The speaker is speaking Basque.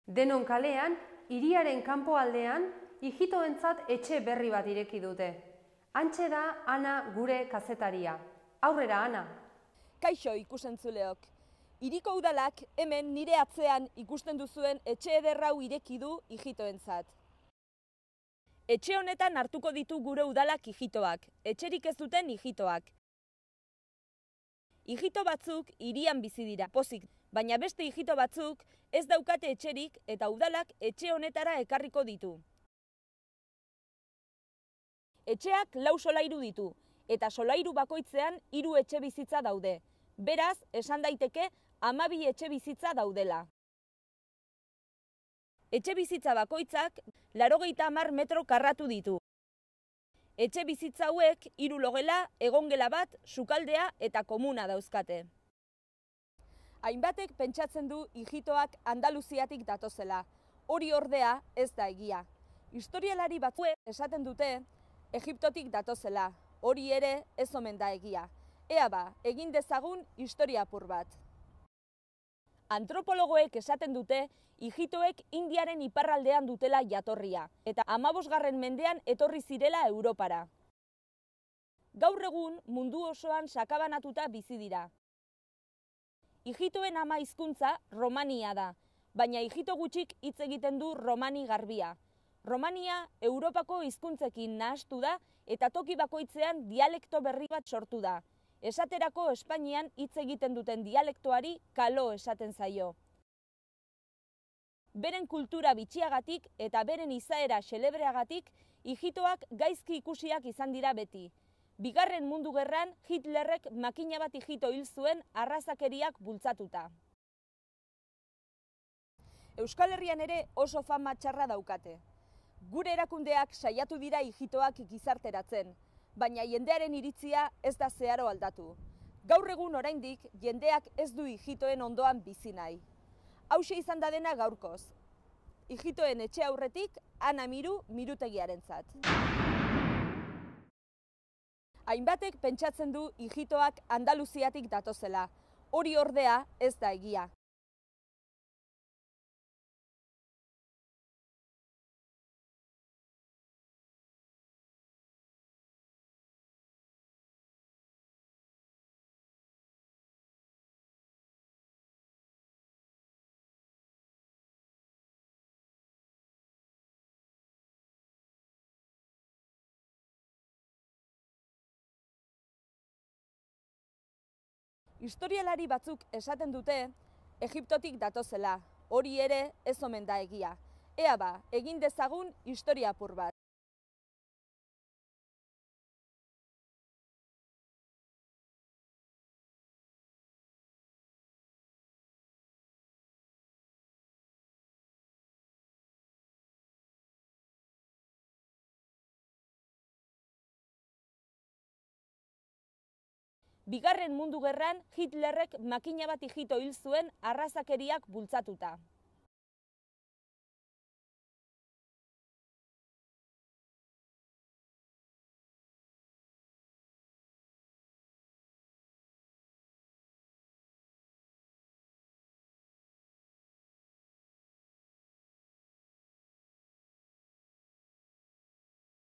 Denon kalean, hiriaren kanpoaldean, ijitoentzat etxe berri bat ireki dute. Hantxe da Ana gure kazetaria. Aurrera, Ana! Kaixo ikusentzuleok. Hiriko udalak hemen nire atzean ikusten duzuen etxe eder hau ireki du ijitoentzat. Etxe honetan hartuko ditu gure udalak ijitoak, etxerik ez duten ijitoak. Ijito batzuk hirian bizi dira, pozik, baina beste ijito batzuk ez daukate etxerik eta udalak etxe honetara ekarriko ditu. Etxeak 4 solairu ditu, eta solairu bakoitzean 3 etxe bizitza daude. Beraz, esan daiteke 12 etxe bizitza daudela. Etxe bizitza bakoitzak 80 metro karratu ditu. Etxe bizitza hauek 3 logela, egongela bat, sukaldea eta komuna dauzkate. Hainbatek pentsatzen du ijitoak Andaluziatik datozela. Hori ordea ez da egia. Historialari batzuek esaten dute Egiptotik datozela. Hori ere ez omen da egia. Ea ba, egin dezagun historia apur bat. Antropologoek esaten dute ijitoek Indiaren iparraldean dutela jatorria, eta 15. mendean etorri zirela Europara. Gaur egun mundu osoan sakabanatuta bizi dira. Ijitoen ama hizkuntza romania da, baina ijito gutxik hitz egiten du romani garbia. Romania Europako hizkuntzekin nahastu da eta toki bakoitzean dialekto berri bat sortu da. Esaterako Espainian hitz egiten duten dialektoari kalo esaten zaio. Beren kultura bitxiagatik eta beren izaera xelebreagatik ijitoak gaizki ikusiak izan dira beti. Bigarren Mundu Gerran Hitlerrek makina bat ijito hil zuen arrazakeriak bultzatuta. Euskal Herrian ere oso fama txarra daukate. Gure erakundeak saiatu dira ijitoak gizarteratzen, baina jendearen iritzia ez da zeharo aldatu. Gaur egun oraindik jendeak ez du ijitoen ondoan bizi nahi. Hauxe izan da dena gaurkoz. Ijitoen etxe aurretik Ana Miru mirutegiarentzat. Hainbatek pentsatzen du ijitoak Andaluziatik datozela. Hori ordea ez da egia. Historialari batzuk esaten dute Egiptotik datozela. Hori ere ez omen da egia. Ea ba, egin dezagun historia apur bat. Bigarren Mundu Gerran Hitlerrek makina bat ijito hil zuen arrazakeriak bultzatuta.